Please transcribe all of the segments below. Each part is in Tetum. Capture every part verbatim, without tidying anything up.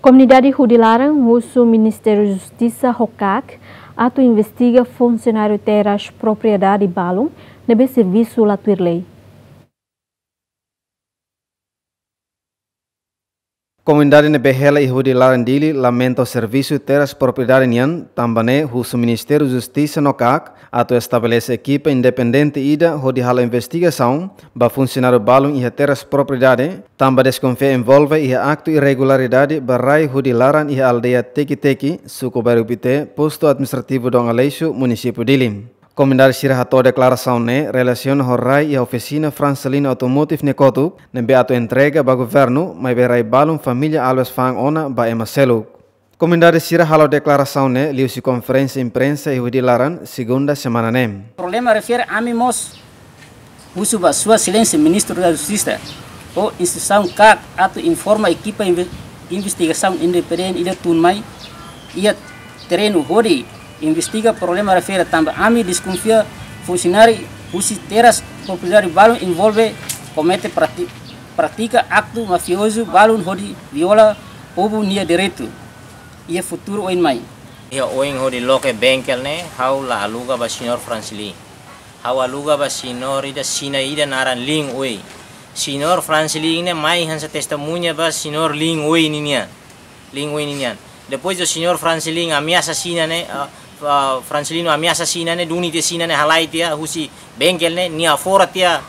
Komunidade Hudi Laran husu Ministériu Justisa ho KAK atu investiga funsionáriu terras propriedade balun ne'ebé servisu la tuir lei. Komunidade ne'ebé hela iha Hudi Laran Dili lamenta servisu terras propriedade nian, tanba ne'e husu Ministériu Justisa no KAK atu estabelese ekipa independente ida hodi halo investigasaun ba funsionáriu balun iha terras propriedade, tanba deskonfia envolve iha aktu irregularidade ba rai Hudi Laran iha aldeia Teki-Teki, suku Bairru Pité, postu administrativu Dom Aleixo, munisípiu Dili. Komunidade sira hato'o deklarasaun ne'e relasiona ho rai iha ofisina Francelino Automotive nia kotuk, ne'ebé atu entrega ba governu, maibé rai balun família Alves fa'an ona ba ema seluk. Komunidade sira halo deklarasaun ne'e liuhusi konferénsia imprensa iha Hudi Laran, segunda semana ne'e. Problema refere ami mós husu ba Sua Exelénsia Ministru da Justisa ho instituisaun KAK atu informa ekipa inve-, investigasaun independente ida tun mai iha terrenu hodi investiga problema refere, tanba ami deskonfia funsionáriu husi terras propriedade balun envolve komete prati-, pratika aktu mafiozu balun hodi viola povu nia direitu iha futuru oin mai. Iha oin hodi loke bengkel ne'e, ha'u la aluga ba señór Francelino. Ha'u aluga ba señór ida Xina ida naran Lin Wei. Señór Francelino ne'e mai hanesan testemuña ba señór Lin Wei ninian. Lin Wei ninian. Depois do señór Francelino ameasa Xina ne'e, ah, ah, Francelino ameasa Xina ne'e, duni tiha Xina ne'e halai tiha husi bengkel ne'e, nia fora tiha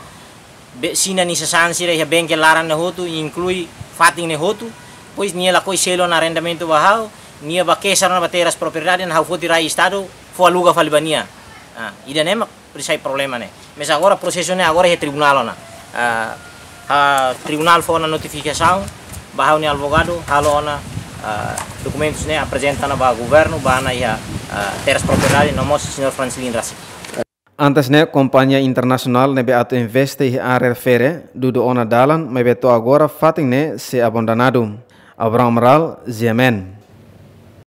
be-, Xina nia sasán sira iha bengkel laran ne'e hotu, inklui fatin ne'e hotu. Depois nia lakohi selu ona arrendamentu ba ha'u, nia bá keixa ona ba terras propriedade ne'e, ha'u foti rai estadu, fó aluga fali ba nia. Ah, ida-ne'e mak presiza problema ne'e. Mas agora prosesu ne'e agora iha tribunál ona. Ah, ah, tribunál fó ona notifikasaun ba ha'u-nia advogadu, halo ona, ah, dokumentus ne'e aprezenta ona ba governu, ba ona iha, ah, terras propriedade, no mós señór Francelino rasik. Antes ne'e, kompañia internasionál ne'ebé atu investe iha área refere, dudu ona dalan, maibé to'o agora fatin ne'e sei abandonadu. Abraham Amaral, G M N.